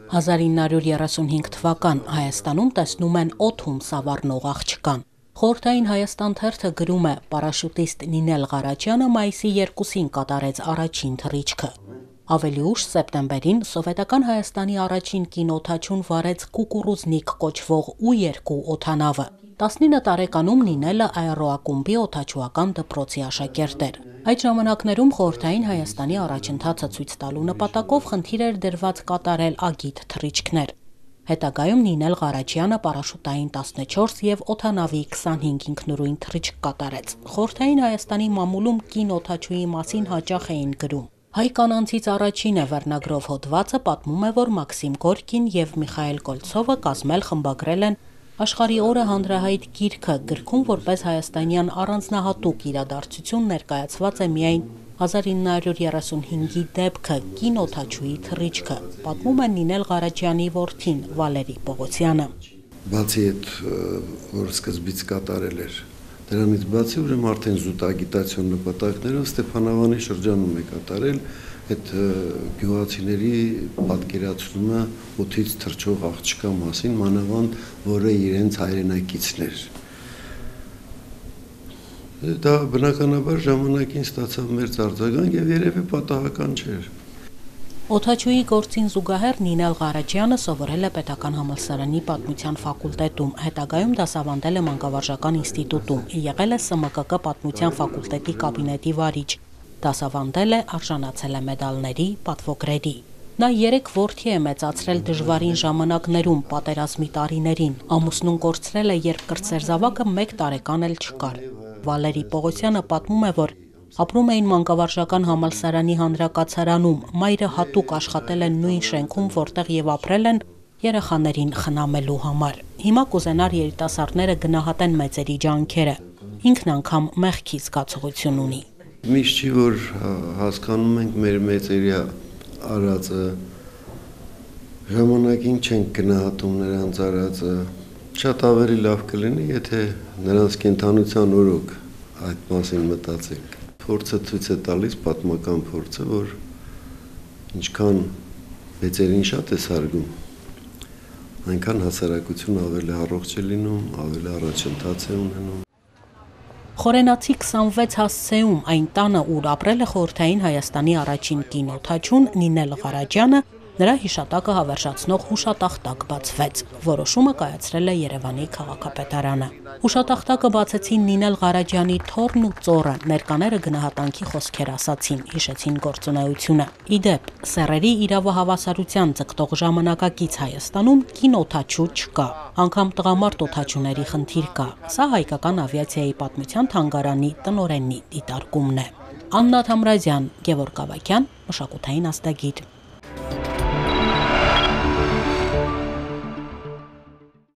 1935 թվական Հայաստանում տեսնում են օդում սավառնող աղջկան։ Խորհրդային Հայաստան թերթը գրում է, պարաշուտիստ Նինել Ղարաջյանը մայիսի 2-ին կատարեց առաջին թռիչքը։ Ավելի ուշ սեպտեմբերին Սովետական Հայաստանի առաջին կինոօդաչուն վարեց Կուկուռուզնիկ կոչվող U-2 օդանավը։ 19 տարեկանում Նինելը աերոակումբի օդաչուական դպրոցի աշակերտ էր։ Այդ ժամանակներում Խորհրդային Հայաստանի առաջընթացը ցույց տալու նպատակով խնդիր էր դրված կատարել ագիտ թռիչքներ։ Հետագայում Նինել Ղարաջյանը պարաշուտային 14 և օդանավի 25 ինքնուրույն թռիչք կատարեց։ Խորհրդային Հայաստանի մամուլում կինոօդաչուի մասին հաճախ էին գրում։ Հայ կանանցից առաջինը վերնագրով հոդվածը պատմում է, որ Մաքսիմ Գորկին և Միխայել Կոլցովը կազմել խմբագրել են Աշխարհի օրը հանրահայտ գիրքը, գրքում որպես հայաստանյան առանձնահատուկ իրադարձություն ներկայացված է միայն 1935-ի դեպքը կինոօդաչուի թռիչքը, պատմում է Նինել Ղարաջյանի որդին Վալերի Պողոսյանը։ Բացի այդ, որ սկզբից կատարել էր, դրանից բացի ուրեմն արդեն զուտագիտացիոն նպատակներով Ստեփանավանի շրջանում է կատարել այդ գյուղացիների պատկերացումը օդից թռչող աղջկա մասին, մանավանդ որը իրենց հայրենակիցն էր։ Դա բնականաբար ժամանակին ստացավ մեծ արձագանք եւ երևի պատահական չէր։ Օդաչուի գործին զուգահեռ Նինել Ղարաջյանը սովորել է Պետական համալսարանի պատմության ֆակուլտետում, հետագայում դասավանդել է Մանկավարժական ինստիտուտում, եղել է ՍՄԿԿ պատմության ֆակուլտետի կաբինետի վարիչ, դասավանդել է, արժանացել է մեդալների, պատվոգրերի։ Նա 3 որդի է մեծացրել դժվարին ժամանակներում, պատերազմի տարիներին, ամուսնուն կորցրել է, երբ կրտսեր զավակը 1 տարեկան էլ չկար։ Վալերի Պողոսյանը պատմում է, որ ապրում էին Մանկավարժական համալսարանի հանրակացարանում, մայրը հատուկ աշխատել է նույն շենքում, որտեղ եւ ապրել են երեխաներին խնամելու համար։ Հիմա կուզենար երիտասարդները գնահատեն մեծերի ջանքերը, ինքն անգամ մեղքի զգացողություն ունի։ Միշտ չի, որ հասկանում ենք մեր մեծերի արածը, ժամանակին չենք գնահատում նրանց արածը, շատ ավելի լավ կլինի, եթե նրանց կենդանության օրոք այդ մասին մտածենք։ Փորձը ցույց է տալիս, պատմական փորձը, որ ինչքան մեծերին շատ է սարգում, այնքան հասարակությունը ավելի առողջ է լինում, ավելի առաջընթաց է ունենում։ Խորենացի 26 հասցեում այն տանը, ուր ապրել է Խորհրդային Հայաստանի առաջին կինոօդաչուն Նինել Ղարաջյանը, նրա հիշատակը հավերժացնող հուշատախտակ բացվեց։ Որոշումը կայացրել է Երևանի քաղաքապետարանը։ Հուշատախտակը բացեցին Նինել Ղարաջյանի թոռն ու ծոռը, ներկաները գնահատանքի խոսքեր ասացին, հիշեցին գործունեությունը։ Ի դեպ, սեռերի իրավահավասարության ձգտող ժամանակակից Հայաստանում կինոօդաչու չկա, անգամ տղամարդ օդաչուների խնդիր կա։ Սա հայկական ավիացիայի պատմության թանգարանի տնօրենի դիտարկումն է։ Աննա Թամրազյան, Գևորգ Ավագյան, մշակութային աստագիր։